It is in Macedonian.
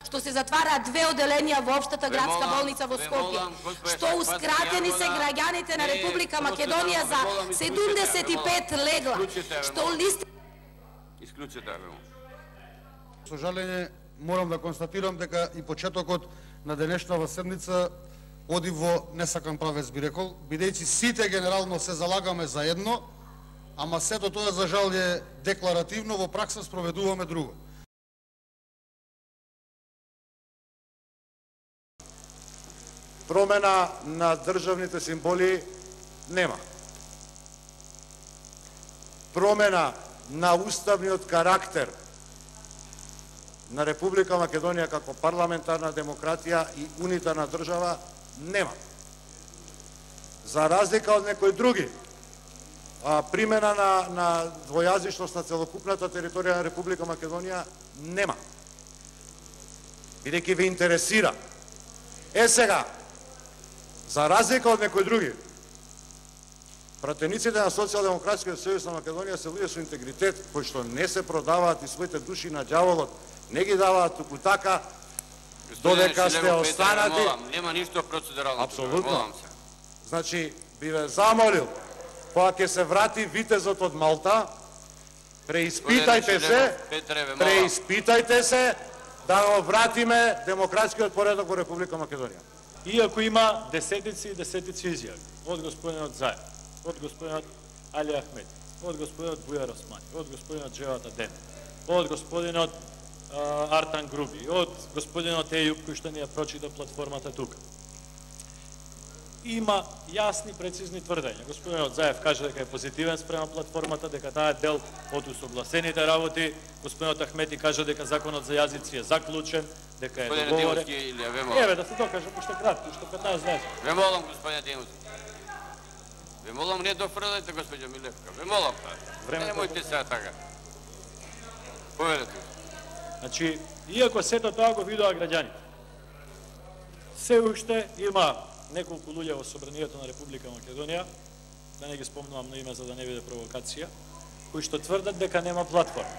што се затвараат 2 оделенија во Општата градска болница во Скопје, што ускратени се граѓаните на Република Македонија за 75 легла, што листи... Со жалење морам да констатирам дека и почетокот на денешната седница оди во несакан правец, би рекол, бидејќи сите генерално се залагаме за едно, ама сето тоа за жал е декларативно, во пракса спроведуваме друго. Промена на државните символи нема. Промена на уставниот карактер на Република Македонија како парламентарна демократија и унитарна држава нема. За разлика од некои други, примена на двојазичност на целокупната територија на Република Македонија нема. Бидејќи ве интересира. Сега, за разлика од некои други, пратениците на Социјалдемократскиот сојуз на Македонија се луѓе со интегритет, кои што не се продаваат и своите души на ѓаволот, не ги даваат туку така, додека сте останати... Нема ништо процедурално. Апсолутно. Значи, би ве замолил, кога ќе се врати витезот од Малта, преиспитајте се, да го вратиме демократскиот поредок во Република Македонија. Иако има десетици и десетици изјави од господинот Заев, од господинот Али Ахмеди, од господинот Бујар Османи, од господинот Джеват Адем, од господинот Артан Груби, од господинот Ејуб, кој што ни ја прочита платформата тука. Има јасни, прецизни тврдења. Господинот Заев каже дека е позитивен спрема платформата, дека таа е дел од усогласените работи. Господинот Ахмети каже дека законот за јазици е заклучен, дека е договорен. Еве да се докаже, пошто кратко, што 15 дни. Ве молам, господине Димовски. Ве молам, не дофрлајте, господине Милевка. Ве молам, немојте сега така. Поведете. Значи, иако сето тоа го видоа граѓаните, се уште има неколку луѓе во Собранието на Република Македонија, да не ги спомнувам на име за да не биде провокација, кои што тврдат дека нема платформа.